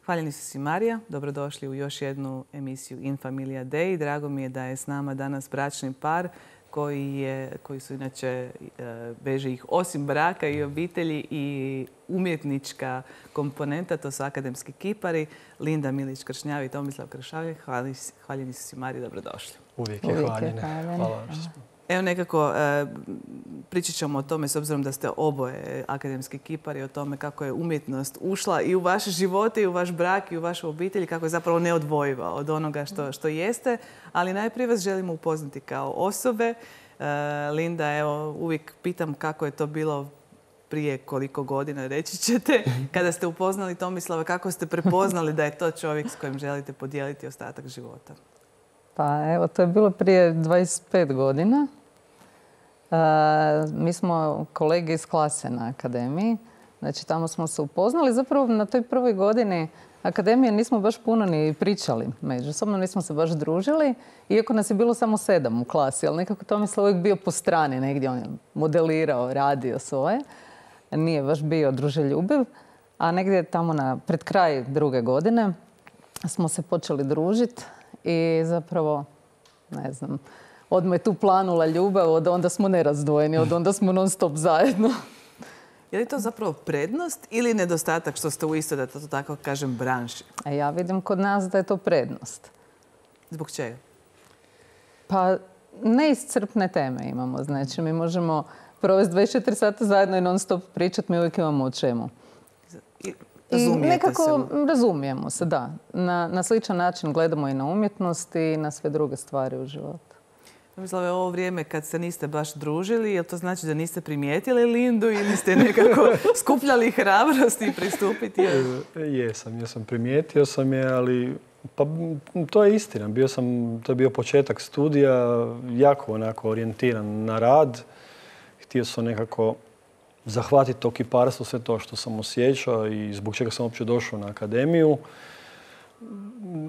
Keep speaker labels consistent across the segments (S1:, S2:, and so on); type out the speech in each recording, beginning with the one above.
S1: Hvaljeni su si Marija, dobrodošli u još jednu emisiju In Familia Day. Drago mi je da je s nama danas bračni par koji su inače, veže ih osim braka i obitelji i umjetnička komponenta, to su akademski kipari, Linda Milić-Kršnjavi i Tomislav Kršavlje. Hvaljeni su si Marija, dobrodošli.
S2: Uvijek je hvaljene. Hvala vam što smo.
S1: Evo nekako, pričat ćemo o tome, s obzirom da ste oboje akademski kipari, o tome kako je umjetnost ušla i u vaše živote, i u vaš brak, i u vašu obitelj, kako je zapravo neodvojiva od onoga što jeste. Ali najprije vas želimo upoznati kao osobe. Linda, evo, uvijek pitam kako je to bilo prije koliko godina, reći ćete, kada ste upoznali Tomislava, kako ste prepoznali da je to čovjek s kojim želite podijeliti ostatak života?
S3: Pa evo, to je bilo prije 25 godina. Mi smo kolege iz klase na akademiji. Znači, tamo smo se upoznali. Zapravo, na toj prvoj godini akademije nismo baš puno ni pričali međusobno, nismo se baš družili. Iako nas je bilo samo 7 u klasi, ali nekako Tomislav uvijek bio po strani negdje. On je modelirao, radio svoje. Nije baš bio druželjubiv. A negdje tamo pred kraj druge godine smo se počeli družiti. I zapravo, ne znam, odmah je tu planula ljubav, od onda smo nerazdvojeni, od onda smo non stop zajedno.
S1: Je li to zapravo prednost ili nedostatak što ste u istoj, da to tako kažem, branši?
S3: A ja vidim kod nas da je to prednost.
S1: Zbog čega?
S3: Pa neiscrpne teme imamo. Znači, mi možemo provesti 24 sata zajedno i non stop pričati, mi uvijek imamo o čemu. I nekako razumijemo se, da. Na sličan način gledamo i na umjetnost i na sve druge stvari u životu.
S1: Tomislave, ovo vrijeme kad se niste baš družili, je li to znači da niste primijetili Lindu ili ste nekako skupljali hrabrost i pristupiti?
S2: Jesam, primijetio sam je, ali pa, to je istina. To je bio početak studija, jako onako orijentiran na rad. Htio sam nekako zahvatiti to kiparstvo, sve to što sam osjećao i zbog čega sam uopće došao na akademiju.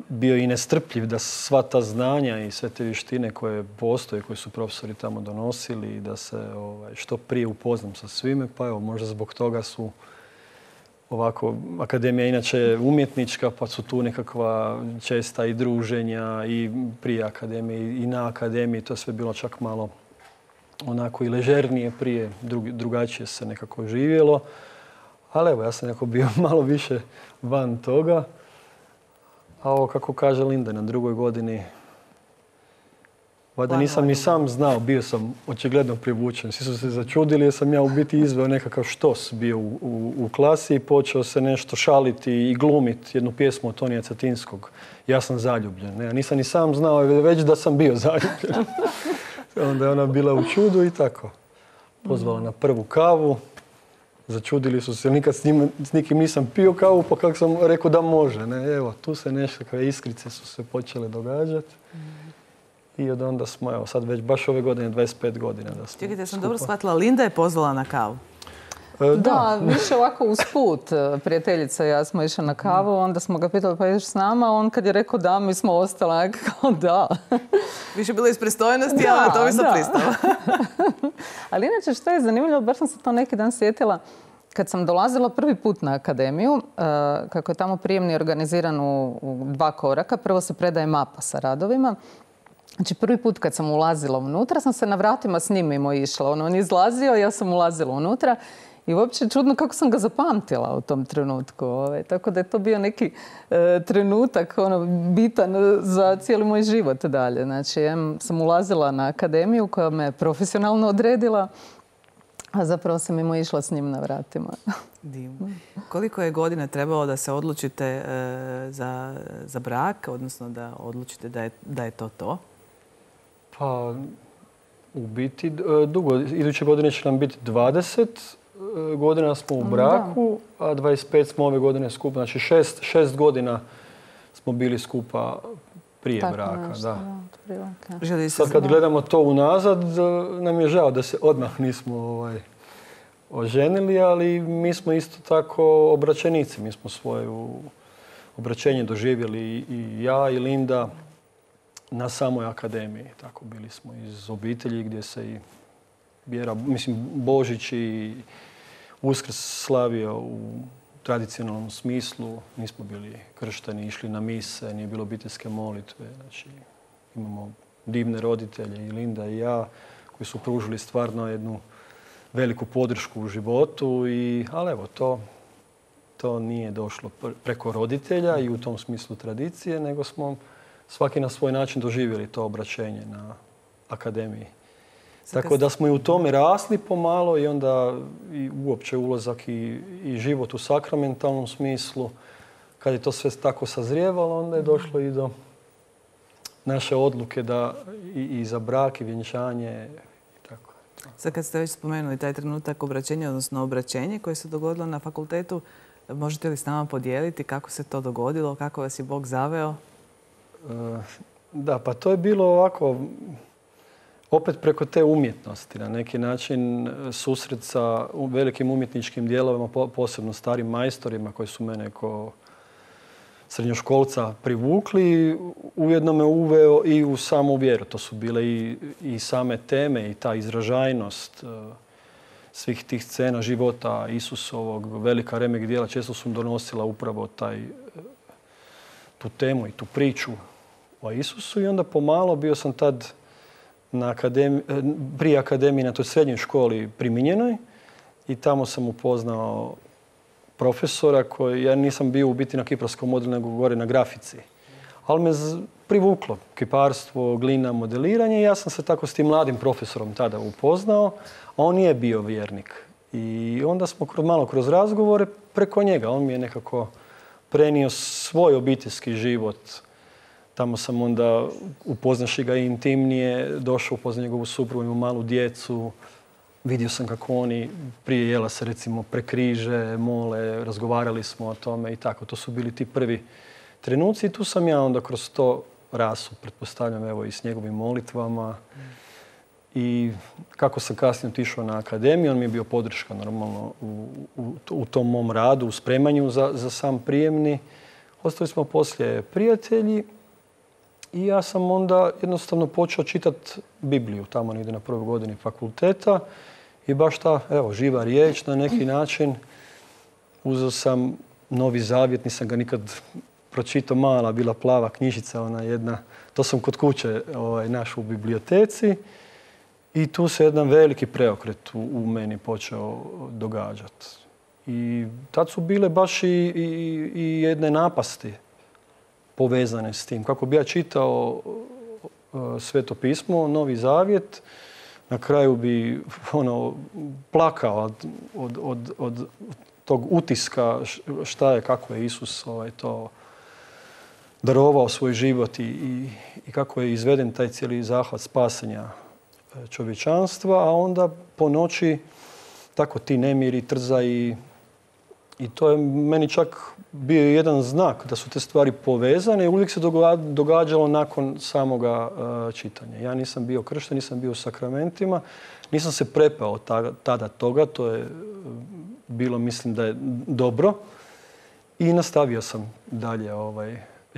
S2: Bio i nestrpljiv da sva ta znanja i sve te vještine koje postoje, koje su profesori tamo donosili, i da se što prije upoznam sa svime. Pa evo, možda zbog toga su ovako, akademija inače umjetnička, pa su tu nekakva česta i druženja i prije akademije i na akademiji. To je sve bilo čak malo onako i ležernije prije, drugačije se nekako živjelo. Ali evo, ja sam nekako bio malo više van toga. A ovo, kako kaže Linda, na drugoj godini, valjda nisam ni sam znao, bio sam očigledno privučen. Svi su se začudili jer sam ja u biti izveo nekakav štos bio u klasi i počeo se nešto šaliti i glumiti jednu pjesmu od Tonija Cetinskog. Ja sam zaljubljen. Ja nisam ni sam znao već da sam bio zaljubljen. Onda je ona bila u čudu i tako. Pozvala na prvu kavu. Začudili su se, nikad s nikim nisam pio kavu, pa kako sam rekao da može. Evo, tu se nekakve iskrice su se počele događati. I od onda smo, evo, sad već baš ove godine, 25 godina da smo.
S1: Čekajte, ja sam dobro shvatila, Linda je pozvala na kavu.
S3: Da, više ovako usput. Prijateljica i ja smo išli na kavu, onda smo ga pitali pa ideš s nama, on kad je rekao da, mi smo ostali kao da.
S1: Više bilo iz pristojnosti, ali na to mi sam pristala.
S3: Ali inače što je zanimljivo, baš sam se to neki dan sjetila, kad sam dolazila prvi put na akademiju, kako je tamo prijemni organiziran u 2 koraka, prvo se predaje mapa sa radovima. Znači, prvi put kad sam ulazila unutra, sam se na vratima s njim mimo išla. On je izlazio, ja sam ulazila unutra. I uopće čudno kako sam ga zapamtila u tom trenutku. Tako da je to bio neki trenutak bitan za cijeli moj život dalje. Znači, ja sam ulazila na akademiju koja me profesionalno odredila, a zapravo sam mimo išla s njim na vratima.
S1: Divno. Koliko je godina trebalo da se odlučite za brak, odnosno da odlučite da je to to?
S2: Pa, u biti dugo. Iduće godine će nam biti 20 godina smo u braku, a 25 smo ove godine skupa. Znači 6 godina smo bili skupa prije braka. Sad kad gledamo to unazad, nam je žao da se odmah nismo oženili, ali mi smo isto tako obraćenici. Mi smo svoje obraćenje doživjeli i ja i Linda na samoj akademiji. Tako bili smo iz obitelji gdje se i Božić i Uskrs slavio u tradicionalnom smislu. Nismo bili kršteni, išli na mise, nije bilo obiteljske molitve. Znači, imamo divne roditelje, i Linda i ja, koji su pružili stvarno jednu veliku podršku u životu. Ali evo, to nije došlo preko roditelja i u tom smislu tradicije, nego smo svaki na svoj način doživjeli to obraćenje na akademiji. Tako da smo i u tome rasli pomalo i onda i uopće ulazak i život u sakramentalnom smislu. Kad je to sve tako sazrijevalo, onda je došlo i do naše odluke da i za brak i vjenčanje i tako.
S1: Sad kad ste već spomenuli taj trenutak obraćenja, odnosno obraćenje koje se dogodilo na fakultetu, možete li s nama podijeliti kako se to dogodilo, kako vas je Bog zaveo?
S2: Da, pa to je bilo ovako, opet preko te umjetnosti, na neki način susret sa velikim umjetničkim dijelovima, posebno starim majstorima koji su mene kao srednjoškolca privukli, ujedno me uveo i u samu vjeru. To su bile i same teme i ta izražajnost svih tih scena života Isusovog, velika remek djela, često su donosila upravo tu temu i tu priču o Isusu. I onda pomalo bio sam tad prije akademije na toj srednjoj školi primijenjenoj i tamo sam upoznao profesora koji, ja nisam bio u biti na kiparskom modelu nego gore na grafici. Ali me privuklo kiparstvo, glina, modeliranje i ja sam se tako s tim mladim profesorom tada upoznao, a on nije bio vjernik. I onda smo malo kroz razgovore preko njega. On mi je nekako prenio svoj obiteljski život. Tamo sam onda, upoznaši ga intimnije, došao upoznat njegovu suprugu, imao malu djecu. Vidio sam kako oni prije jela se recimo prekriže, mole, razgovarali smo o tome i tako. To su bili ti prvi trenuci i tu sam ja onda kroz to rasu, pretpostavljam, evo i s njegovim molitvama. I kako sam kasnije otišao na akademiju, on mi je bio podrška normalno u tom mom radu, u spremanju za sam prijemni. Ostali smo poslije prijatelji i ja sam onda jednostavno počeo čitati Bibliju tamo negdje na prvoj godini fakulteta i baš ta, evo, živa riječ na neki način. Uzeo sam Novi Zavjet, nisam ga nikad pročitao, mala, bila plava knjižica, ona jedna. To sam kod kuće našao u biblioteci i tu se jedan veliki preokret u meni počeo događati. I tad su bile baš i jedne napasti povezane s tim. Kako bi ja čitao Sveto pismo, Novi Zavjet, na kraju bi plakao od tog utiska šta je, kako je Isus to darovao svoj život i kako je izveden taj cijeli zahvat spasenja čovječanstva, a onda po noći tako ti nemiri, trzaji. I to je meni čak bio jedan znak da su te stvari povezane i uvijek se događalo nakon samoga čitanja. Ja nisam bio kršten, nisam bio u sakramentima, nisam se prepao tada toga, to je bilo, mislim da je dobro. I nastavio sam dalje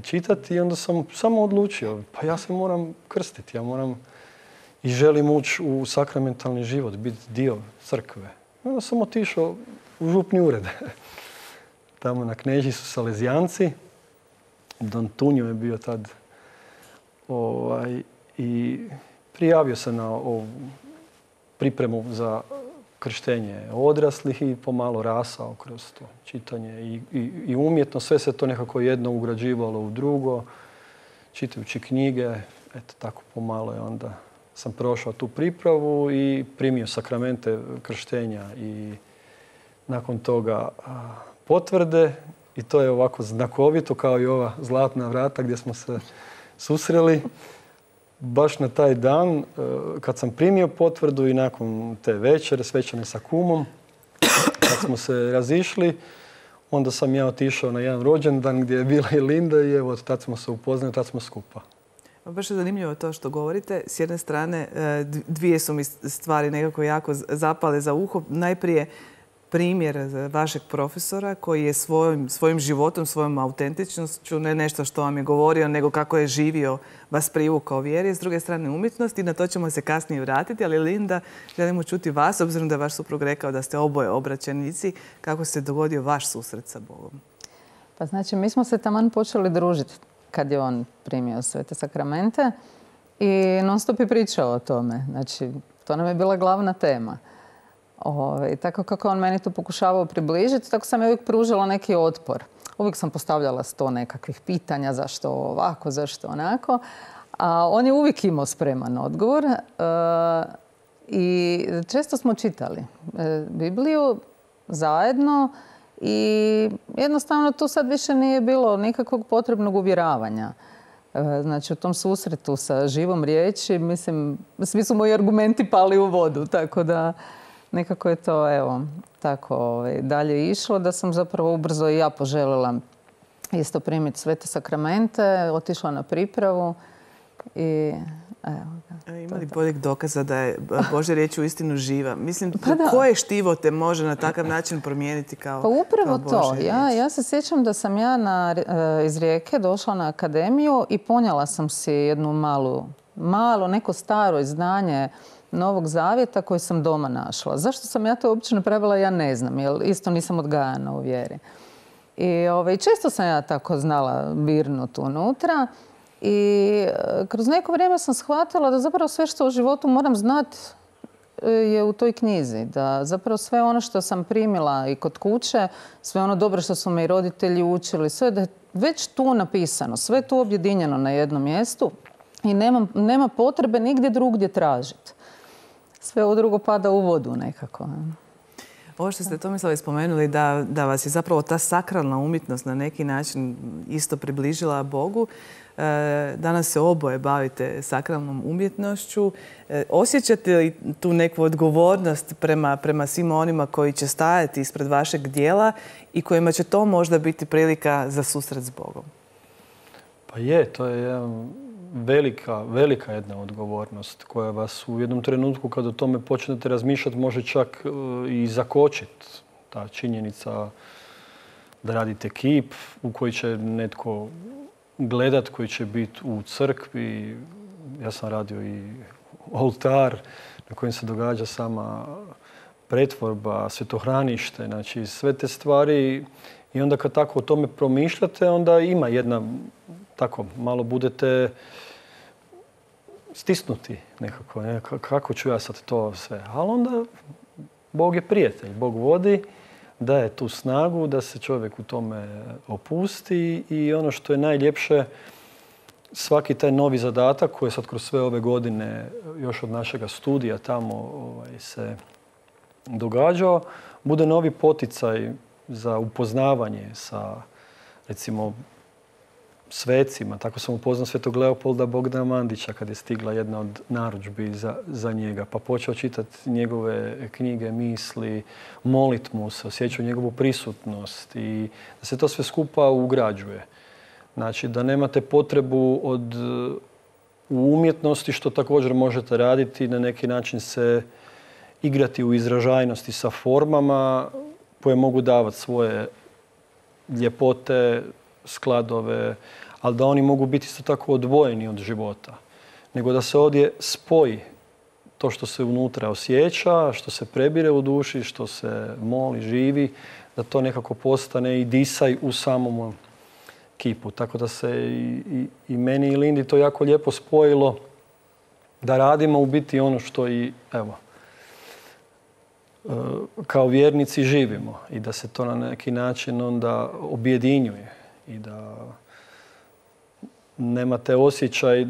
S2: čitati i onda sam samo odlučio, pa ja se moram krstiti, ja moram i želim ući u sakramentalni život, biti dio crkve. Onda sam otišao u župni ured. Tamo na Knežiji su Salezijanci. Don Tunjo je bio tad. I prijavio se na ovu pripremu za krštenje odraslih i pomalo rasao kroz to čitanje. I umjetno sve se to nekako jedno ugrađivalo u drugo. Čitajući knjige, eto tako pomalo je onda sam prošao tu pripravu i primio sakramente krštenja i nakon toga potvrde i to je ovako znakovito kao i ova zlatna vrata gdje smo se susreli. Baš na taj dan kad sam primio potvrdu i nakon te večere svečane sa kumom, kad smo se razišli, onda sam ja otišao na jedan rođendan gdje je bila i Linda i evo tad smo se upoznali, tad smo skupa.
S1: Baš je zanimljivo to što govorite. S jedne strane, dvije su mi stvari nekako jako zapale za uho. Najprije, primjer vašeg profesora koji je svojim životom, svojom autentičnošću, ne nešto što vam je govorio, nego kako je živio, vas privukao vjeri. S druge strane umjetnost i na to ćemo se kasnije vratiti. Ali Linda, želimo čuti vas, obzirom da je vaš suprug rekao da ste oboje obraćenici. Kako se dogodio vaš susret sa Bogom?
S3: Pa znači, mi smo se taman počeli družiti kad je on primio svete sakramente i non stop je pričao o tome. Znači, to nam je bila glavna tema. Tako kako on meni to pokušavao približiti, tako sam je uvijek pružila neki otpor. Uvijek sam postavljala 100 nekakvih pitanja, zašto ovako, zašto onako. A on je uvijek imao spreman odgovor. I često smo čitali Bibliju zajedno i jednostavno tu sad više nije bilo nikakvog potrebnog uvjeravanja. Znači, u tom susretu sa živom riječi, mislim, svi su moji argumenti pali u vodu, tako da nekako je to, evo, tako dalje išlo, da sam zapravo ubrzo i ja poželjela isto primiti svete sakramente, otišla na pripravu i evo.
S1: Ima li boljeg dokaza da je Božja riječ uistinu živa? Mislim, koje štivo te može na takav način promijeniti kao Božja riječ?
S3: Pa upravo to. Ja se sjećam da sam ja iz Rijeke došla na akademiju i ponijela sam si jednu malo neko staro izdanje Novog Zavjeta koji sam doma našla. Zašto sam ja to uopće napravila, ja ne znam, jer isto nisam odgajana u vjeri. I često sam ja tako znala birnuti unutra. I kroz neko vrijeme sam shvatila da zapravo sve što u životu moram znati je u toj knjizi. Da zapravo sve ono što sam primila i kod kuće, sve ono dobro što su me i roditelji učili, sve da je već tu napisano, sve tu objedinjeno na jednom mjestu i nema potrebe nigdje drugdje tražiti. Sve ovo drugo pada u vodu nekako.
S1: Ovo što ste Tomislave spomenuli, da vas je zapravo ta sakralna umjetnost na neki način isto približila Bogu. Danas se oboje bavite sakralnom umjetnošću. Osjećate li tu neku odgovornost prema svima onima koji će stajati ispred vašeg djela i kojima će to možda biti prilika za susret s Bogom?
S2: Pa to je velika jedna odgovornost koja vas u jednom trenutku kad o tome počnete razmišljati može čak i zakočiti. Ta činjenica da radite kip u koji će netko gledat, koji će biti u crkvi. Ja sam radio i oltar na kojem se događa sama pretvorba, svetohranište, znači sve te stvari. I onda kad tako o tome promišljate, onda ima jedna, tako, malo budete stisnuti nekako. Kako ću ja sad to sve? Ali onda Bog je prijatelj, Bog vodi, daje tu snagu da se čovjek u tome opusti i ono što je najljepše, svaki taj novi zadatak koji je sad kroz sve ove godine još od našega studija tamo se događao, bude novi poticaj za upoznavanje sa, recimo, svecima. Tako sam upoznao svetog Leopolda Bogdana Mandića kad je stigla jedna od narudžbi za njega. Pa počeo čitati njegove knjige, misli, molit mu se, osjećao njegovu prisutnost i da se to sve skupa ugrađuje. Znači da nemate potrebu u umjetnosti, što također možete raditi, na neki način se igrati u izražajnosti sa formama koje mogu davati svoje ljepote, skladove, ali da oni mogu biti isto tako odvojeni od života. Nego da se ovdje spoji to što se unutra osjeća, što se prebire u duši, što se moli, živi, da to nekako postane i disaj u samom kipu. Tako da se i meni i Lindi to jako lijepo spojilo da radimo u biti ono što i, evo, kao vjernici živimo i da se to na neki način onda objedinjuje i da nemate osjećaj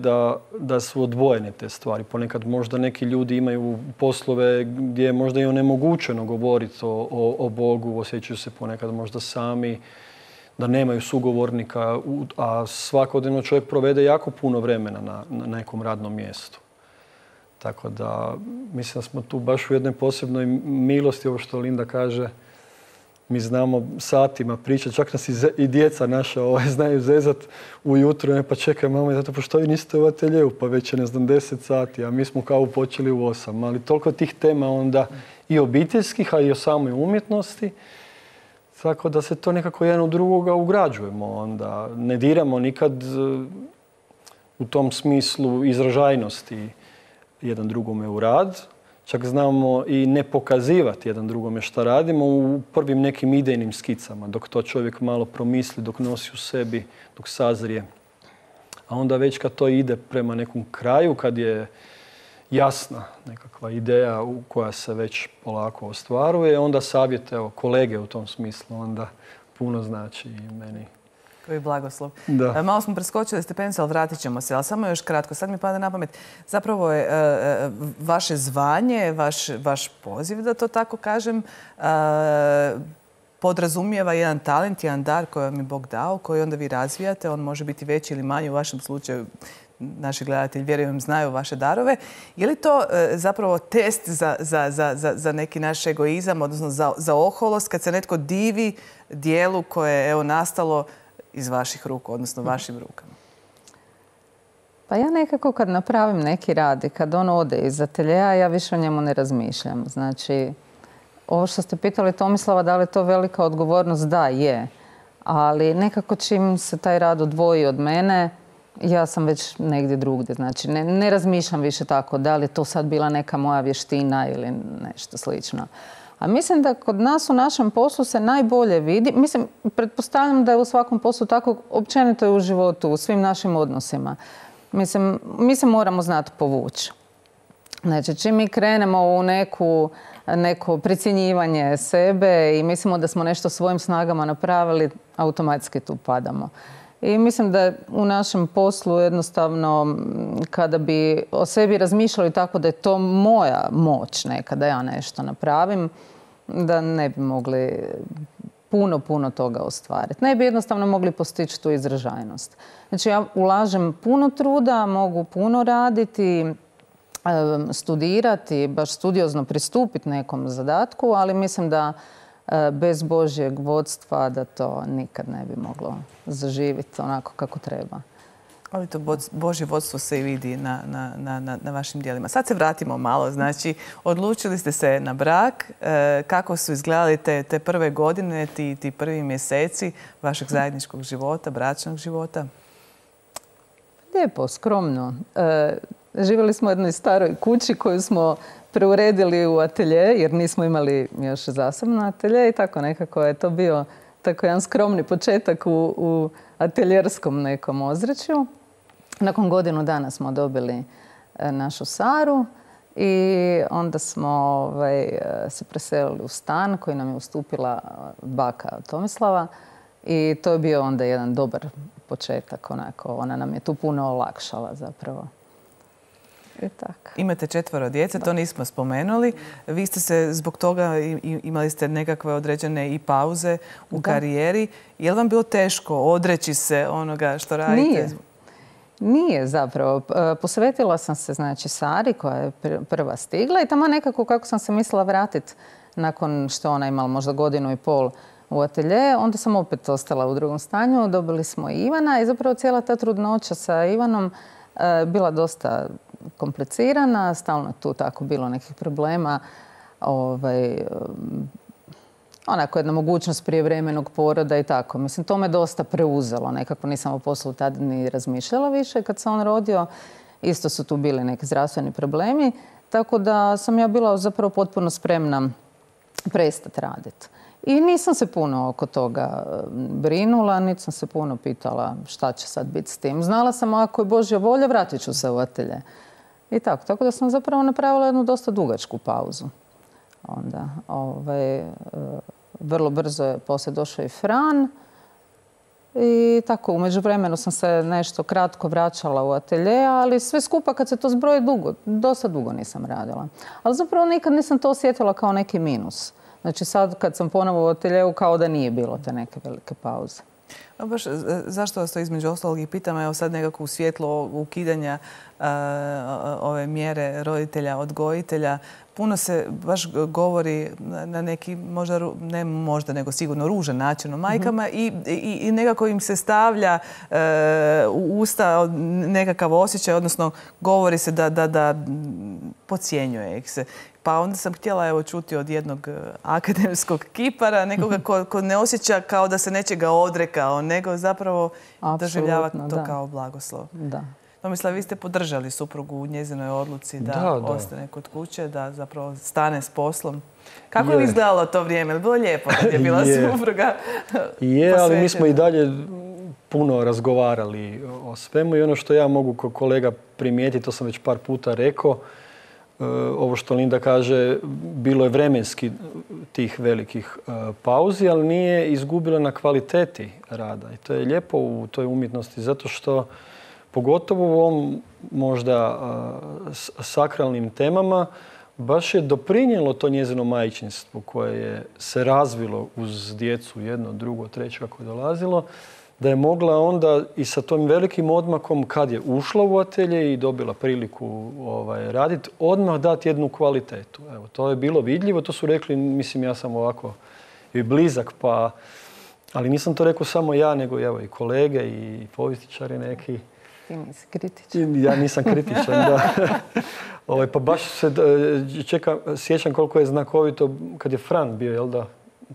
S2: da su odvojene te stvari. Ponekad možda neki ljudi imaju poslove gdje je možda i onemogućeno govoriti o Bogu, osjećaju se ponekad možda sami, da nemaju sugovornika, a svakodnevno čovjek provede jako puno vremena na nekom radnom mjestu. Tako da mislim da smo tu baš u jednoj posebnoj milosti, ovo što Linda kaže, Mi znamo satima pričati, čak nas i djeca naša znaju zezat ujutro, pa čekaj mama, zato pa što vi niste u ateljevu, pa već je 10 sati, a mi smo kao počeli u 8. Ali toliko tih tema onda i obiteljskih, a i o samoj umjetnosti, tako da se to nekako jedan u drugoga ugrađujemo. Onda ne diramo nikad u tom smislu izražajnosti jedan drugome u rad. Čak znamo i ne pokazivati jedan drugome šta radimo u prvim nekim idejnim skicama, dok to čovjek malo promisli, dok nosi u sebi, dok sazrije. A onda već kad to ide prema nekom kraju, kad je jasna nekakva ideja koja se već polako ostvaruje, onda savjet, evo, kolege u tom smislu, onda puno znači i meni.
S1: Koji blagoslov.
S2: Da.
S1: Malo smo preskočili stepenicu, ali vratit ćemo se. Ali samo još kratko, sad mi pada na pamet. Zapravo je vaše zvanje, vaš poziv, da to tako kažem, podrazumijeva jedan talent, jedan dar koji vam je Bog dao, koji onda vi razvijate. On može biti veći ili manji. U vašem slučaju naši gledatelji, vjerujem, znaju vaše darove. Je li to zapravo test za neki naš egoizam, odnosno za oholost, kad se netko divi dijelu koje je nastalo iz vaših ruku, odnosno vašim rukama?
S3: Pa ja nekako kad napravim neki rad i kad on ode iz ateljeja, ja više o njemu ne razmišljam. Znači, ovo što ste pitali Tomislava, da li je to velika odgovornost? Da, je. Ali nekako čim se taj rad odvoji od mene, ja sam već negdje drugdje. Znači, ne razmišljam više tako da li je to sad bila neka moja vještina ili nešto slično. A mislim da kod nas u našem poslu se najbolje vidi, mislim, pretpostavljam da je u svakom poslu tako, općenito je u životu, u svim našim odnosima. Mislim, mi se moramo znati povući. Znači, čim mi krenemo u neko precjenjivanje sebe i mislimo da smo nešto svojim snagama napravili, automatski tu padamo. I mislim da u našem poslu jednostavno, kada bi o sebi razmišljali tako da je to moja moć neka, da ja nešto napravim, da ne bi mogli puno toga ostvariti. Ne bi jednostavno mogli postići tu izražajnost. Znači, ja ulažem puno truda, mogu puno raditi, studirati, baš studiozno pristupiti nekom zadatku, ali mislim da bez Božjeg vodstva da to nikad ne bi moglo zaživjeti onako kako treba.
S1: Ali to Božje vodstvo se i vidi na vašim djelima. Sad se vratimo malo. Znači, odlučili ste se na brak. Kako su izgledali te prve godine, ti prvi mjeseci vašeg zajedničkog života, bračnog života?
S3: Lijepo, skromno. Živjeli smo u jednoj staroj kući koju smo preuredili u atelje, jer nismo imali još zasebno atelje i tako nekako je to bio tako jedan skromni početak u ateljerskom nekom ozračju. Nakon godinu dana smo dobili našu Saru i onda smo se preselili u stan koji nam je ustupila baka Tomislava i to je bio onda jedan dobar početak. Ona nam je tu puno olakšala zapravo.
S1: Imate 4 djece, to nismo spomenuli. Vi ste se zbog toga, imali ste nekakve određene i pauze u karijeri. Je li vam bilo teško odreći se onoga što radite?
S3: Nije zapravo. Posvetila sam se Sari koja je prva stigla i tamo nekako kako sam se mislila vratiti nakon što ona imala možda 1,5 godinu u atelje, onda sam opet ostala u drugom stanju. Dobili smo i Ivana i zapravo cijela ta trudnoća sa Ivanom bila dosta komplicirana, stalno je tu tako bilo nekih problema. Onako jedna mogućnost prijevremenog poroda i tako. Mislim, to me dosta preuzelo. Nekako nisam o poslu tad ni razmišljala više. Kad se on rodio, isto su tu bili neki zdravstveni problemi. Tako da sam ja bila zapravo potpuno spremna prestati raditi. I nisam se puno oko toga brinula, niti sam se puno pitala šta će sad biti s tim. Znala sam ako je Božja volja, vratit ću se u atelje. I tako. Tako da sam zapravo napravila jednu dosta dugačku pauzu. Onda, vrlo brzo je poslije došao i Fran. I tako, u međuvremenu sam se nešto kratko vraćala u atelje, ali sve skupa kad se to zbroji dosta dugo nisam radila. Ali zapravo nikad nisam to osjetila kao neki minus. Znači sad kad sam ponovo u ateljevu kao da nije bilo te neke velike pauze.
S1: Baš zašto vas to između ostalog i pitam, evo sad nekako u svjetlo ukidanja ove mjere roditelja, odgojitelja, puno se baš govori na neki, ne možda, nego sigurno ružan način o majkama i nekako im se stavlja u usta nekakav osjećaj, odnosno govori se da podcjenjuje ih se. Pa onda sam htjela čuti od jednog akademskog kipara, nekoga ko ne osjeća kao da se nečega odrekao, nego zapravo doživljava to kao blagoslov.
S3: Da.
S1: Tomislav, vi ste podržali suprugu u njezinoj odluci da ostane kod kuće, da zapravo stane s poslom. Kako je izgledalo to vrijeme? Bilo lijepo kad je bila supruga posvećena?
S2: Ali mi smo i dalje puno razgovarali o svemu i ono što ja mogu kao kolega primijetiti, to sam već par puta rekao, ovo što Linda kaže, bilo je vremenski tih velikih pauzi, ali nije izgubila na kvaliteti rada. I to je lijepo u toj umjetnosti, zato što pogotovo u ovom možda sakralnim temama baš je doprinijelo to njezino majčinstvo koje je se razvilo uz djecu, jedno, drugo, treće kako je dolazilo, da je mogla onda i sa tom velikim odmakom kad je ušla u atelje i dobila priliku raditi, odmah dati jednu kvalitetu. Evo, to je bilo vidljivo, to su rekli, mislim ja sam ovako i blizak, ali nisam to rekao samo ja, nego evo i kolege i povjesničari neki.
S3: Ti nisi kritičan.
S2: Ja nisam kritičan, da. Pa baš se sjećam koliko je znakovito kad je Fran bio, jel da,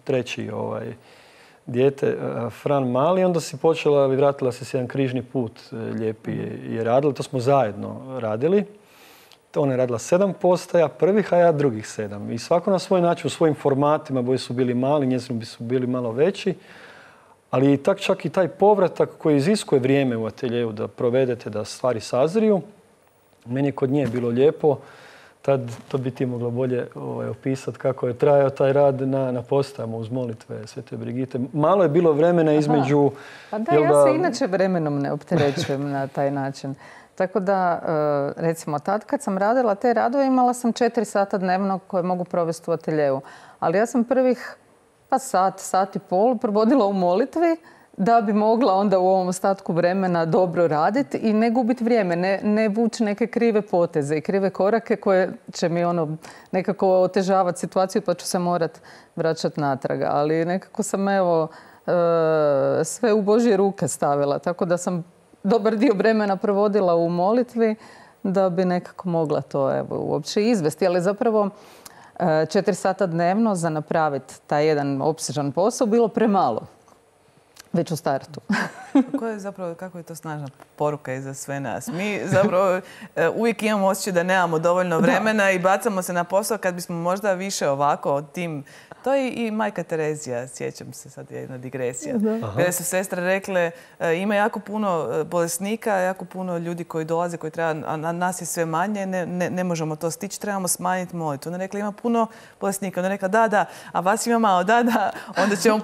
S2: treći dijete, Fran mali, onda si počela i vratila se s jedan križni put lijepi je radila. To smo zajedno radili. Ona je radila 7 postaja, prvih, a ja drugih 7. I svako na svoj način, u svojim formatima, boji su bili mali, njezini su bili malo veći. Ali čak i taj povratak koji iziskuje vrijeme u ateljeju da provedete, da stvari sazriju, meni je kod nje bilo lijepo. Tad to bi ti mogla bolje opisati kako je trajao taj rad na postajama uz molitve Svete Brigite. Malo je bilo vremena između...
S3: Pa da, ja se inače vremenom ne opterećujem na taj način. Tako da, recimo, tad kad sam radila te radove, imala sam 4 sata dnevno koje mogu provesti u ateljeju. Ali ja sam prvih sat i pol provodila u molitvi da bi mogla onda u ovom ostatku vremena dobro raditi i ne gubiti vrijeme, ne vući neke krive poteze i krive korake koje će mi nekako otežavati situaciju pa ću se morati vraćati natrag. Ali nekako sam sve u Božje ruke stavila, tako da sam dobar dio vremena provodila u molitvi da bi nekako mogla to uopće izvesti. Ali zapravo 4 sata dnevno za napraviti taj jedan opsežan posao bilo premalo. Već u startu.
S1: Kako je to snažna poruka i za sve nas? Mi zapravo uvijek imamo osjećaj da nemamo dovoljno vremena i bacamo se na posao kad bismo možda više ovako tim. To je i majka Terezija, sjećam se, sad je jedna digresija. Kada su sestre rekle, ima jako puno bolesnika, jako puno ljudi koji dolaze, koji treba, a nas je sve manje, ne možemo to stići, trebamo smanjiti molitvu. Ona rekla, ima puno bolesnika. Ona rekla, da, a vas ima malo, da, onda ćemo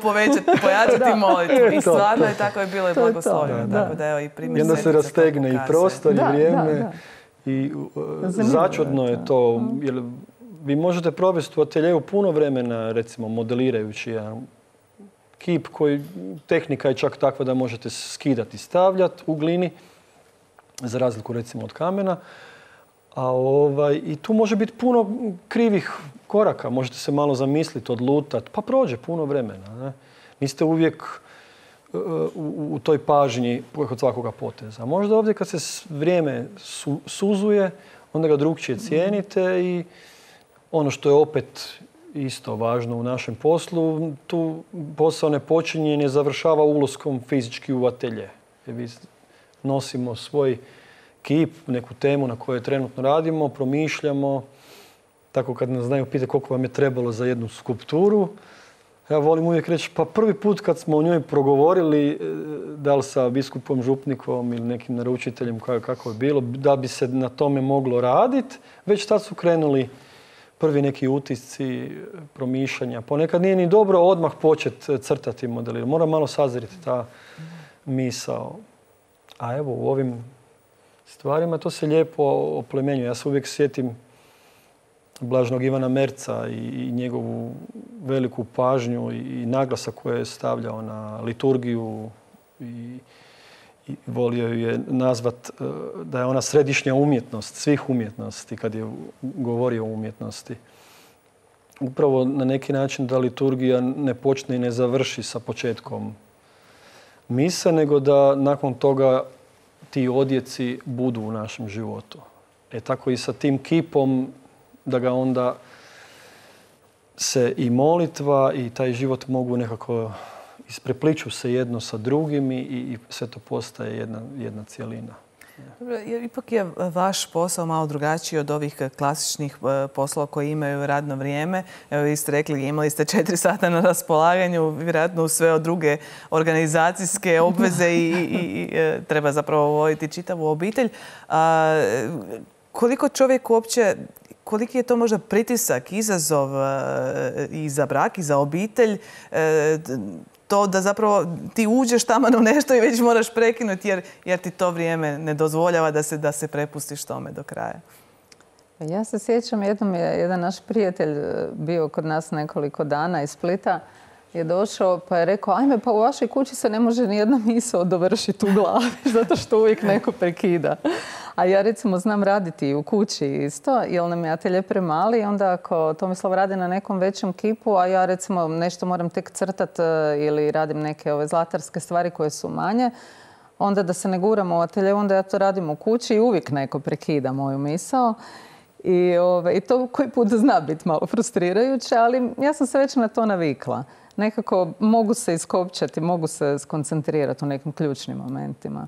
S1: pojačati molitvu. I stvarno je tako je bilo i blagoslovljeno. Tako da, evo, i primjer
S2: i onda se rastegne i prostor i vrijeme. I začudno je to, jer vi možete provesti u ateljeju puno vremena, recimo, modelirajući jedan kip koji tehnika je čak takva da možete skidati i stavljati u glini, za razliku recimo od kamena. I tu može biti puno krivih koraka. Možete se malo zamisliti, odlutati, pa prođe puno vremena. Ne? Niste uvijek u toj pažnji kod svakoga poteza. Možda ovdje kad se vrijeme suzuje, onda ga drugčije cijenite i ono što je opet isto važno u našem poslu, tu posao ne počinje i ne završava ulaskom fizički u atelje. Mi nosimo svoj kip, neku temu na kojoj trenutno radimo, promišljamo. Tako kad nas znaju pitati koliko vam je trebalo za jednu skulpturu, ja volim uvijek reći, pa prvi put kad smo o njoj progovorili, da li sa biskupom Župnikom ili nekim naručiteljem kako je bilo, da bi se na tome moglo raditi, već tad su krenuli prvi neki utisci, promišljanja. Ponekad nije ni dobro odmah početi crtati modelirati. Mora malo sazriti ta misao. A evo u ovim stvarima to se lijepo oplemenjuje. Ja se uvijek sjetim Blaženog Ivana Merca i njegovu veliku pažnju i naglasak koji je stavljao na liturgiju i volio ju je nazvat da je ona središnja umjetnost, svih umjetnosti, kad je govorio o umjetnosti. Upravo na neki način da liturgija ne počne i ne završi sa početkom mise, nego da nakon toga ti odjeci budu u našem životu. Tako i sa tim kipom, da ga onda se i molitva i taj život mogu nekako isprepliču se jedno sa drugim i sve to postaje jedna cjelina.
S1: Dobro, ipak je vaš posao malo drugačiji od ovih klasičnih poslova koji imaju radno vrijeme. Evo, vi ste rekli, imali ste 4 sata na raspolaganju, vjerojatno sve od druge organizacijske obveze i treba zapravo voditi čitavu obitelj. Koliko čovjek uopće, koliki je to možda pritisak, izazov i za brak i za obitelj, to da zapravo ti uđeš tamo u nešto i već moraš prekinuti jer ti to vrijeme ne dozvoljava da se prepustiš tome do kraja.
S3: Ja se sjećam, jednom je jedan naš prijatelj bio kod nas nekoliko dana iz Splita, je došao pa je rekao, ajme, pa u vašoj kući se ne može ni jedna misao dovršiti u glavi, zato što uvijek neko prekida. A ja recimo znam raditi u kući isto, jer nam je atelje premali i onda ako Tomislav radi na nekom većem kipu, a ja recimo nešto moram tek crtat ili radim neke ove zlatarske stvari koje su manje, onda da se ne guramo u atelje, onda ja to radim u kući i uvijek neko prekida moju misao. I to koji put zna biti malo frustrirajuće, ali ja sam se već na to navikla. Nekako mogu se iskopčati, mogu se skoncentrirati u nekim ključnim momentima.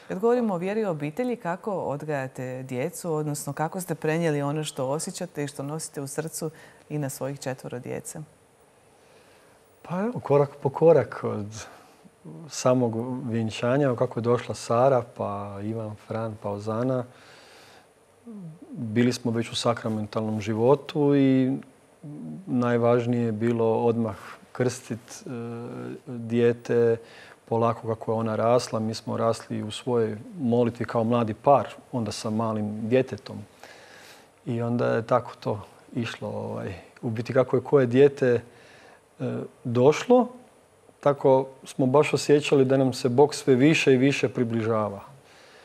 S1: Kad govorimo o vjeri i obitelji, kako odgajate djecu, odnosno kako ste prenijeli ono što osjećate i što nosite u srcu i na svojih 4 djece?
S2: Pa evo, korak po korak od samog vjenčanja, kako je došla Sara, pa Ivan, Fran, pa Ozana. Bili smo već u sakramentalnom životu i najvažnije je bilo odmah krstiti dijete polako kako je ona rasla. Mi smo rasli u svojoj molitvi kao mladi par, onda sa malim djetetom. I onda je tako to išlo. U biti kako je koje dijete došlo, tako smo baš osjećali da nam se Bog sve više i više približava.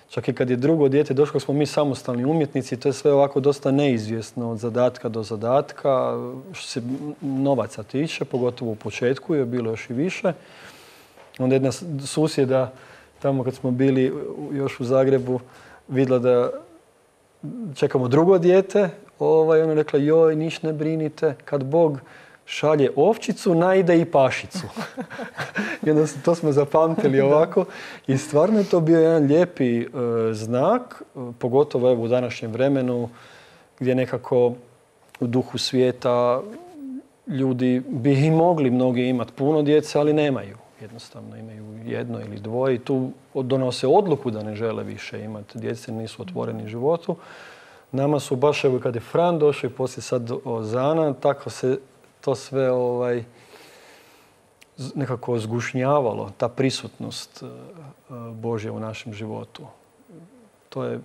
S2: Čak i kad je drugo dijete došlo, smo mi samostalni umjetnici, to je sve ovako dosta neizvjesno od zadatka do zadatka. Što se novaca tiče, pogotovo u početku je bilo još i više. Onda jedna susjeda, tamo kad smo bili još u Zagrebu, vidjela da čekamo drugo dijete. Ona je rekla, joj, niš ne brinite, kad Bog šalje ovčicu, najde i pašicu. I onda to smo zapamtili ovako. I stvarno je to bio jedan lijepi znak, pogotovo evo u današnjem vremenu, gdje nekako u duhu svijeta ljudi bi i mogli mnogi imati puno djece, ali nemaju. Jednostavno imaju 1 ili 2 i tu donose odluku da ne žele više imati djece, nisu otvoreni životu. Nama su baš, evo kad je Fran došao i poslije sad Ozana, tako se to sve nekako zgušnjavalo, ta prisutnost Božja u našem životu. To je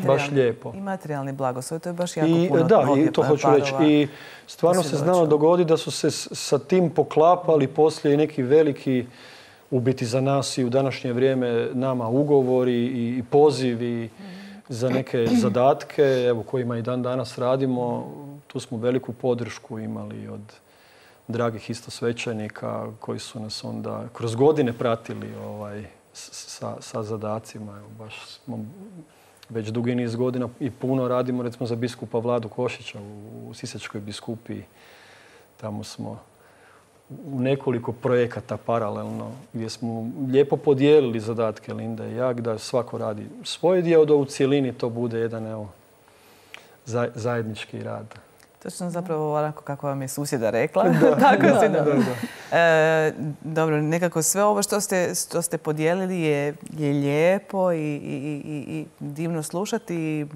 S2: baš lijepo.
S1: I materijalni blagoslov, to je baš jako puno.
S2: Da, i to hoću reći. I stvarno se znalo dogoditi da su se sa tim poklapali poslije i neki veliki, u biti za nas i u današnje vrijeme, nama ugovori i pozivi za neke zadatke, evo kojima i dan danas radimo. Tu smo veliku podršku imali od dragih istosvećenika koji su nas onda kroz godine pratili sa zadacima. Evo, baš smo već dugi niz godina i puno radimo recimo za biskupa Vladu Košića u Sisačkoj biskupiji. Tamo smo u nekoliko projekata paralelno gdje smo lijepo podijelili zadatke Linda i ja, da svako radi svoj dio, da u cjelini to bude jedan zajednički rad.
S1: Točno zapravo onako kako vam je susjeda rekla. Dobro, nekako sve ovo što ste podijelili je lijepo i divno slušati.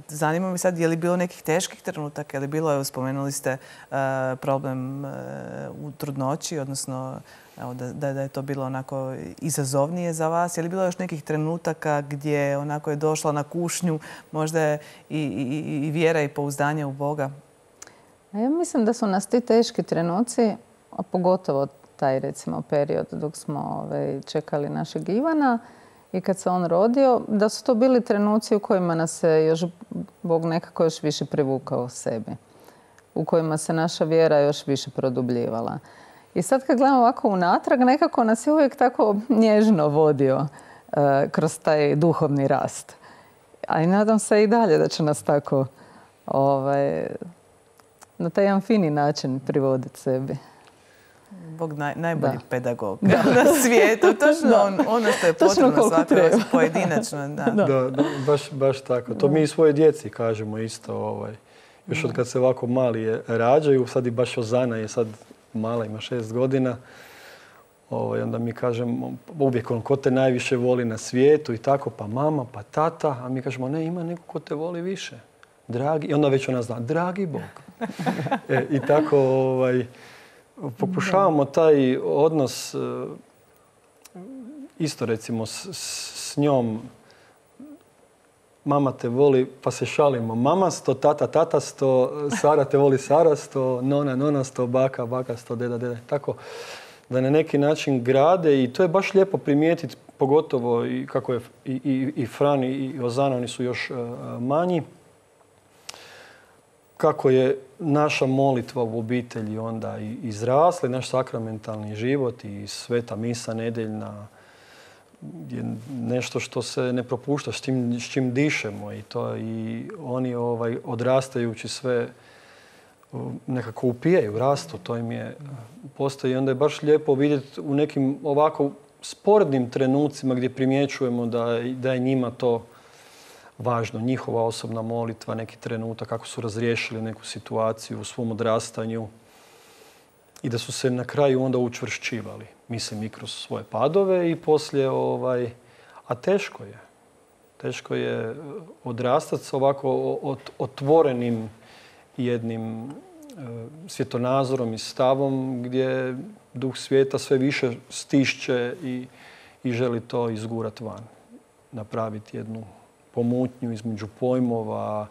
S1: Zanima me sad, je li bilo nekih teških trenutaka? Je li bilo, evo, spomenuli ste problem u trudnoći, odnosno da je to bilo onako izazovnije za vas. Je li bilo još nekih trenutaka gdje onako je došla na kušnju možda i vjera i pouzdanje u Boga?
S3: Ja mislim da su nas ti teški trenuci, a pogotovo taj recimo period dok smo čekali našeg Ivana i kad se on rodio, da su to bili trenuci u kojima nas se još Bog nekako još više privukao sebi, u kojima se naša vjera još više produbljivala. I sad kad gledamo ovako unatrag, nekako nas je uvijek tako nježno vodio kroz taj duhovni rast. A i nadam se i dalje da će nas tako na taj jedan fini način privoditi sebi.
S1: Bog najbolji pedagog na svijetu. Točno ono što je potrebno svakako pojedinačno.
S2: Da, baš tako. To mi i svoje djeci kažemo isto. Još od kad se ovako mali rađaju, sad i baš Ozana je sad mala, ima 6 godina. Onda mi kažemo uvijek ko te najviše voli na svijetu i tako, pa mama, pa tata. A mi kažemo ne, ima neko ko te voli više. Dragi. I onda već ona zna, dragi Bog. I tako pokušavamo taj odnos isto recimo s njom. Mama te voli, pa se šalimo. Mama sto, tata sto, Sara te voli Sara sto, nona sto, baka sto, deda. Tako da na neki način grade i to je baš lijepo primijetiti, pogotovo i kako je i Fran i Ozana, oni su još manji. Kako je naša molitva u obitelji onda izrasla, naš sakramentalni život i sveta misa nedeljna je nešto što se ne propušta, s čim dišemo i oni odrastajući sve nekako upijaju, rastu, to im je postoji i onda je baš lijepo vidjeti u nekim ovako sporednim trenucima gdje primjećujemo da je njima to važno, njihova osobna molitva, neki trenutak, kako su razriješili neku situaciju u svom odrastanju i da su se na kraju onda učvršćivali. Mislim i kroz svoje padove i poslije, a teško je. Teško je odrastati s ovako otvorenim jednim svjetonazorom i stavom gdje duh svijeta sve više stišće i želi to izgurati van. Napraviti jednu pomutnju između pojmova.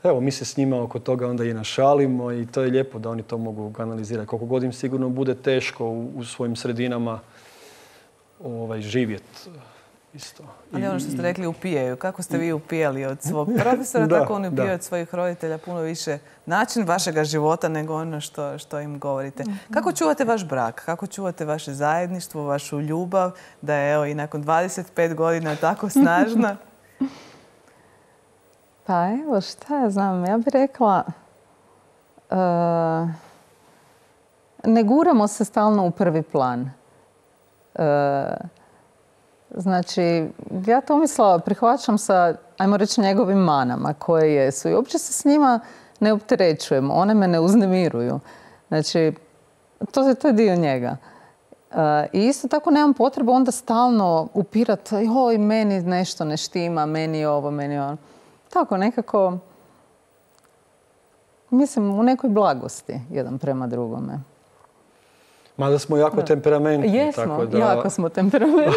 S2: Evo, mi se s njima oko toga onda i našalimo i to je lijepo da oni to mogu analizirati. Koliko god im sigurno bude teško u svojim sredinama živjeti isto.
S1: Ali ono što ste rekli, upijaju. Kako ste vi upijali od svog profesora, tako oni upijaju od svojih roditelja puno više način vašega života nego ono što im govorite. Kako čuvate vaš brak? Kako čuvate vaše zajedništvo, vašu ljubav, da je evo i nakon 25 godina tako snažna?
S3: Pa evo, šta ja znam, ja bih rekla, ne guramo se stalno u prvi plan. Znači, ja Tomislava prihvaćam sa, ajmo reći, njegovim manama koje jesu i uopće se s njima ne opterećujem, one me ne uznemiruju. Znači, to je dio njega. I isto tako nemam potrebu onda stalno upirati, joj, meni nešto ne štima, meni ovo, meni ono. Tako, nekako, mislim, u nekoj blagosti jedan prema drugome.
S2: Mada smo jako temperamentni.
S3: Jesmo,
S2: tako da...
S3: jako smo temperamentni.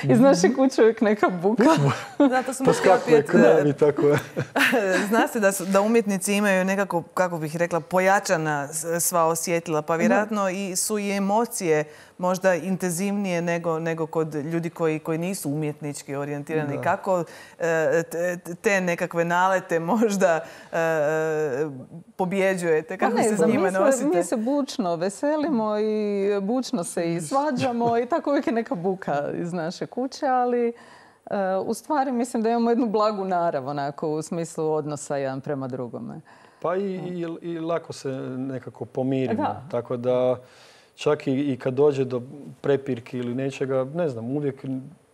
S3: Iz naše kuće uvijek neka buka.
S1: Zato smo
S2: poskakuje k nam i tako je.
S1: Zna se da umjetnici imaju nekako, kako bih rekla, pojačana sva osjetila, pa vjerojatno su i emocije možda intenzivnije nego kod ljudi koji nisu umjetnički orijentirani. Da. Kako te nekakve nalete možda pobjeđujete? Kako se s njima nosite?
S3: Mi se bučno veselimo i bučno se i svađamo i tako uvijek je neka buka iz naše kuće, ali u stvari mislim da imamo jednu blagu narav onako u smislu odnosa jedan prema drugome.
S2: Pa i lako se nekako pomirimo. Da. Tako da čak i kad dođe do prepirki ili nečega, ne znam, uvijek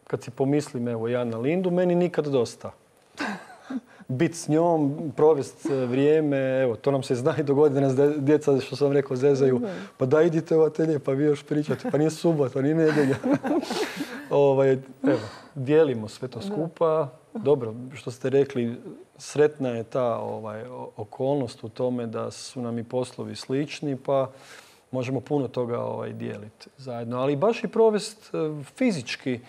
S2: kad si pomislim, evo ja na Lindu, meni nikad dosta. Bit s njom, provest vrijeme, evo, to nam se zna i dogoditi da nas djeca, što sam rekao, zezaju. Pa da idite u atelje, pa vi još pričate, pa nije subota, nije nedjelja. Evo, dijelimo sve to skupa. Dobro, što ste rekli, sretna je ta okolnost u tome da su nam i poslovi slični, pa možemo puno toga dijeliti zajedno. Ali baš i provest fizički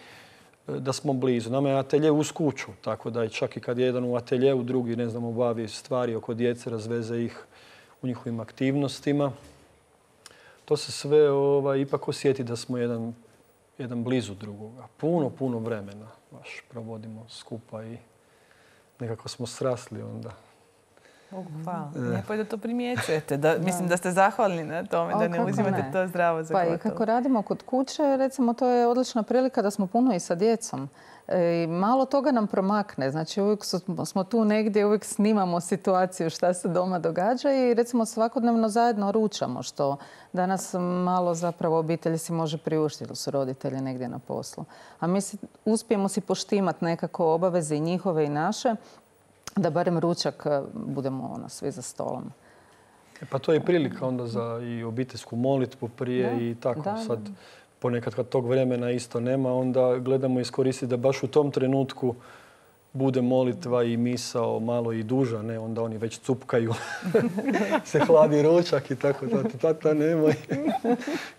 S2: da smo blizu. Nama je atelje uz kuću, tako da čak i kad je jedan u ateljeu, drugi, ne znam, obavi stvari oko djece, razveze ih u njihovim aktivnostima. to se sve ipak osjeti da smo jedan blizu drugoga. Puno vremena baš provodimo skupa i nekako smo srasli onda.
S1: Bogu hvala. Lijepo je da to primjećujete. Mislim da ste zahvalni na tome, da ne uzimate to zdravo za gotovo.
S3: Pa i kako radimo kod kuće, recimo to je odlična prilika da smo puno i sa djecom. I malo toga nam promakne. Znači uvijek smo tu negdje, uvijek snimamo situaciju šta se doma događa i recimo svakodnevno zajedno ručamo, što danas malo zapravo obitelji si može priuštiti, ili su roditelji negdje na poslu. A mi uspijemo si poštimati nekako obaveze i njihove i naše, da barem ručak budemo svi za stolom.
S2: Pa to je prilika onda za i obiteljsku molitvu prije i tako. Sad ponekad kad tog vremena isto nema, onda gledamo iskoristiti da baš u tom trenutku bude molitva i misao malo i duža, ne? Onda oni već cupkaju, se hladi ručak i tako. Tata nemoj,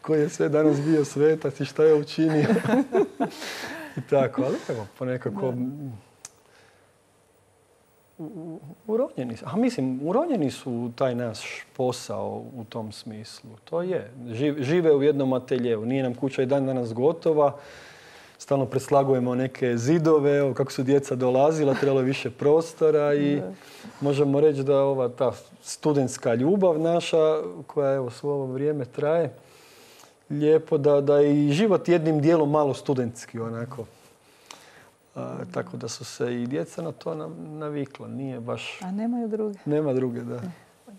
S2: koji je sve danas bio svetac i šta je učinio. I tako, ali evo, ponekako... Uronjeni su u taj naš posao u tom smislu. To je. Žive u jednom ateljeu. Nije nam kuća i dan danas gotova. Stalno preslagujemo neke zidove. Evo, kako su djeca dolazila, trebalo je više prostora i možemo reći da ta studentska ljubav naša, koja evo svo ovo vrijeme traje, lijepo da je i život jednim dijelom malo studentski onako. Tako da su se i djeca na to navikla. Nije baš...
S3: A nemaju druge.
S2: Nema druge, da.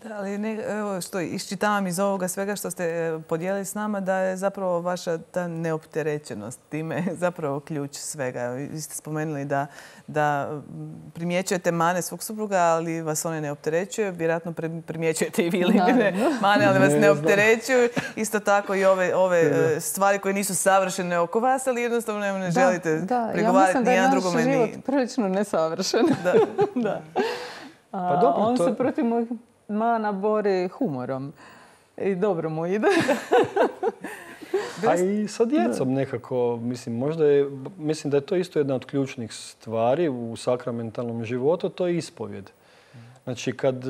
S1: Da, ali evo što iščitavam iz ovoga svega što ste podijelili s nama, da je zapravo vaša ta neopterećenost time zapravo ključ svega. Vi ste spomenuli da primjećujete mane svog supruga, ali vas one ne opterećuju. Vjerojatno primjećujete i vi mane, ali vas ne opterećuju. Isto tako i ove stvari koje nisu savršene oko vas, ali jednostavno ne želite pregovarati ni jedan drugome.
S3: Ja mislim da je naš život prilično nesavršen.
S1: Da.
S3: Pa dobro, on se protiv mojih mana bori humorom i dobro mu ide.
S2: A i sa djecom nekako, mislim da je to isto jedna od ključnih stvari u sakramentalnom životu, to je ispovjed. Znači kad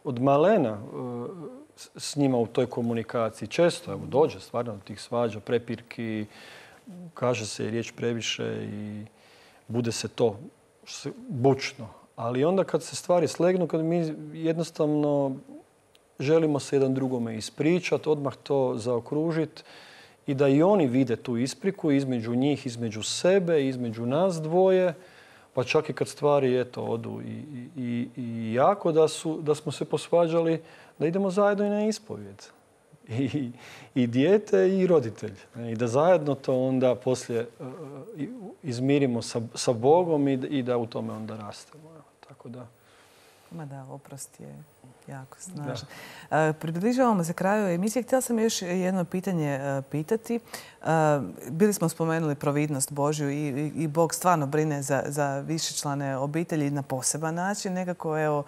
S2: od malena s njima u toj komunikaciji često dođe stvarno do tih svađa, prepirki, kaže se riječ previše i bude se to bučno. Ali onda kad se stvari slegnu, kad mi jednostavno želimo se jedan drugome ispričati, odmah to zaokružiti i da i oni vide tu ispriku između njih, između sebe, između nas dvoje, pa čak i kad stvari odu i jako da smo se posvađali, da idemo zajedno i na ispovjed. I dijete i roditelj. I da zajedno to onda poslije izmirimo sa Bogom i da u tome onda rastemo. Tako da.
S1: Ma da, oprost je jako snažan. Približavamo se kraju emisije. Htjela sam još jedno pitanje pitati. Bili smo spomenuli providnost Božju i Bog stvarno brine za višečlane obitelji na poseban način. Nekako, evo,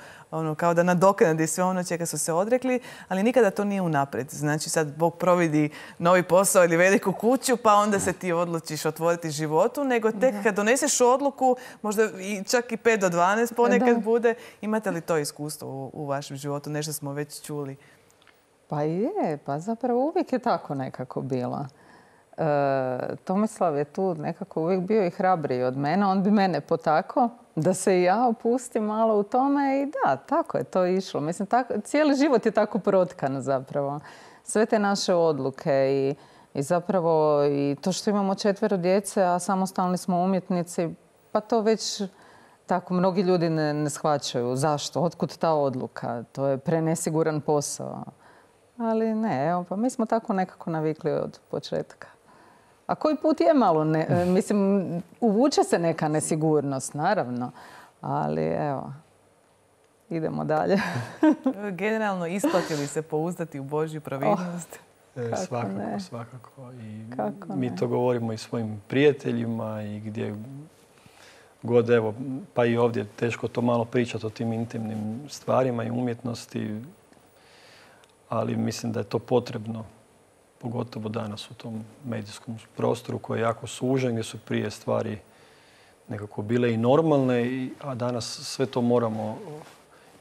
S1: kao da nadoknadi sve ono čega su se odrekli, ali nikada to nije unaprijed. Znači sad Bog providi novi posao ili veliku kuću, pa onda se ti odlučiš otvoriti životu, nego tek kad doneseš odluku, možda i čak i 5 do 12 ponekad bude. Imate li to iskustvo u vašem životu? Nešto smo već čuli.
S3: Pa je, pa zapravo uvijek je tako nekako bilo. Tomislav je tu nekako uvijek bio i hrabriji od mene. On bi mene potakao da se i ja opustim malo u tome i da, tako je to išlo. Mislim, cijeli život je tako protkan zapravo. Sve te naše odluke i zapravo i to što imamo 4 djece, a samostalni smo umjetnici, pa to već tako mnogi ljudi ne shvaćaju. Zašto? Otkud ta odluka? To je prenesiguran posao. Ali ne, evo, pa mi smo tako nekako navikli od početka. A koji put je malo, mislim, uvuče se neka nesigurnost, naravno. Ali evo, idemo dalje.
S1: Generalno, isplatili se pouzdati u Božju providnost?
S2: Svakako. I mi to govorimo i svojim prijateljima i gdje god, evo, pa i ovdje teško to malo pričati o tim intimnim stvarima i umjetnosti, ali mislim da je to potrebno, pogotovo danas u tom medijskom prostoru koji je jako sužen, gdje su prije stvari nekako bile i normalne, a danas sve to moramo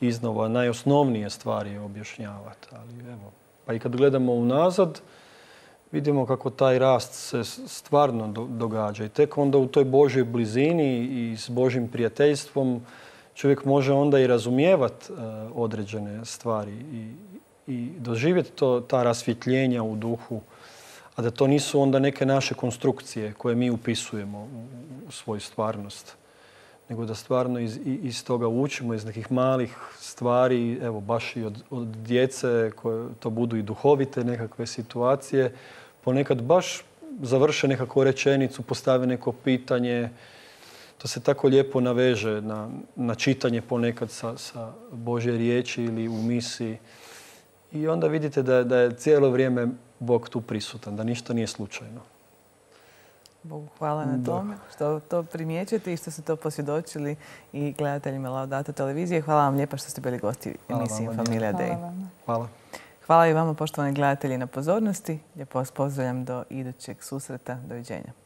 S2: iznova najosnovnije stvari objašnjavati. Ali evo, Pa i kad gledamo unazad, vidimo kako taj rast se stvarno događa. I tek onda u toj Božjoj blizini i s Božjim prijateljstvom čovjek može onda i razumijevati određene stvari i doživjeti ta rasvjetljenja u duhu, a da to nisu onda neke naše konstrukcije koje mi upisujemo u svoju stvarnost, nego da stvarno iz toga učimo, iz nekih malih stvari, evo baš i od djece koje to budu i duhovite nekakve situacije, ponekad baš završe nekakvu rečenicu, postave neko pitanje. To se tako lijepo naveže na čitanje ponekad sa Božje riječi ili u misiji. I onda vidite da je cijelo vrijeme Bog tu prisutan, da ništa nije slučajno.
S1: Bogu hvala na tome što to primjećujete i što ste to posvjedočili i gledateljima Laudato televizije. Hvala vam lijepa što ste bili gosti emisije Familia Day.
S2: Hvala.
S1: Hvala i vama, poštovani gledatelji, na pozornosti. Lijepo vas pozdravljam do idućeg susreta. Doviđenja.